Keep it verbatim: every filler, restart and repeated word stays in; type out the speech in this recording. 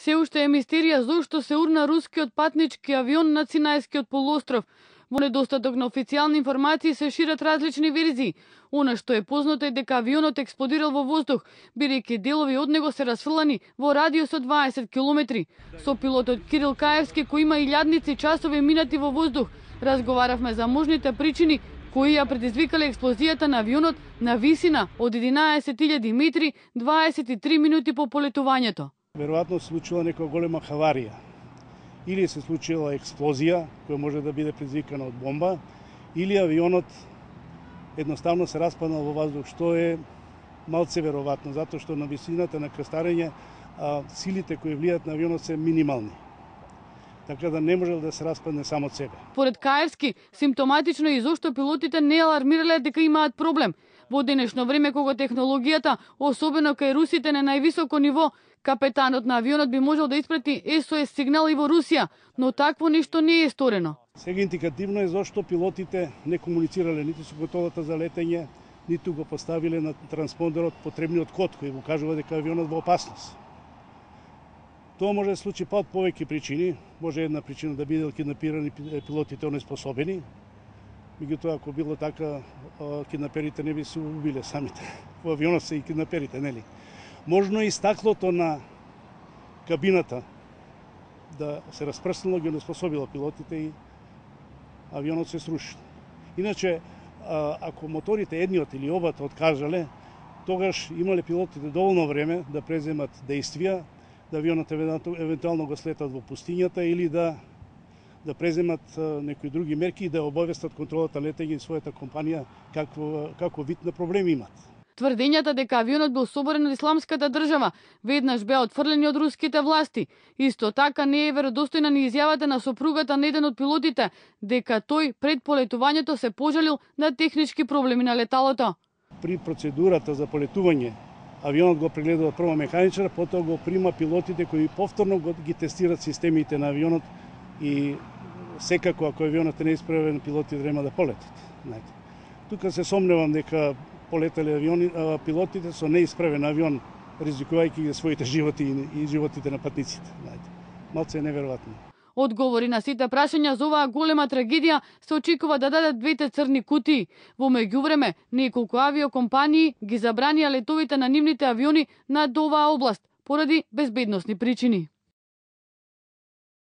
Се уште е мистерија зошто се урна рускиот патнички авион на Синајскиот полуостров. Во недостаток на официјални информации се шират различни верзии. Она што е познато е дека авионот експлодирал во воздух, бидејќи делови од него се расфрлани во радиус од дваесет километри. Со пилотот Кирил Каевски, кој има илјадници часови минати во воздух, разговаравме за можните причини кои ја предизвикале експлозијата на авионот на висина од единаесет илјади метри дваесет и три минути по полетувањето. Веројатно се случила некоја голема хаварија. Или се случила експлозија, која може да биде предизвикана од бомба, или авионот едноставно се распаднал во воздух, што е малце веројатно, затоа што на висината на крстарење а, силите кои влијаат на авионот се минимални. Така да не можел да се распадне само од себе. Поред Каевски, симптоматично е и зошто пилотите не алармирале дека имаат проблем. Во денешно време кога технологијата, особено кај русите на највисоко ниво, капетанот на авионот би можел да испрати Ес О Ес сигнал и во Русија, но такво нешто не е сторено. Сега индикативно е зошто пилотите не комуницирале ниту со контролата за летење, ниту го поставиле на транспондерот потребниот код кој го кажува дека авионот во опасност. Тоа може да се случи па од повеќе причини. Може една причина да бидел киднапирани пилотите онеспособени. Меѓутоа, ако било така, киднаперите не би се убиле самите. Во авионот се и киднаперите, нели? Можно и стаклото на кабината да се распрснало, ги онеспособило пилотите и авионот се сруши. Иначе, ако моторите едниот или обата откажале, тогаш имале пилотите доволно време да преземат действија, да авионот евентуално го слетат во пустињата или да да преземат некои други мерки и да обавестат контролата летење и својата компанија какво како вид на проблеми имат. Тврдењата дека авионот бил соборен од исламската држава веднаш беа отфрлени од руските власти. Исто така не е веродостојна ни изјавата на сопругата на еден од пилотите дека тој пред полетувањето се пожалил на технички проблеми на леталото. При процедурата за полетување авионот го прегледува прво механичар, потоа го прима пилотите кои повторно го ги тестираат системите на авионот и секако ако авионот не е исправен, пилотите трема да полетат. Знаете. Тука се сомневам дека полетале авиони, а, пилотите со неисправен авион, ризикувајќи ги своите животи и, и животите на патниците. Знаете. Малце е неверојатно. Одговори на сите прашања за оваа голема трагедија се очекува да дадат двете црни кутии. Во меѓувреме, неколку авиокомпании ги забранија летовите на нивните авиони над оваа област поради безбедносни причини.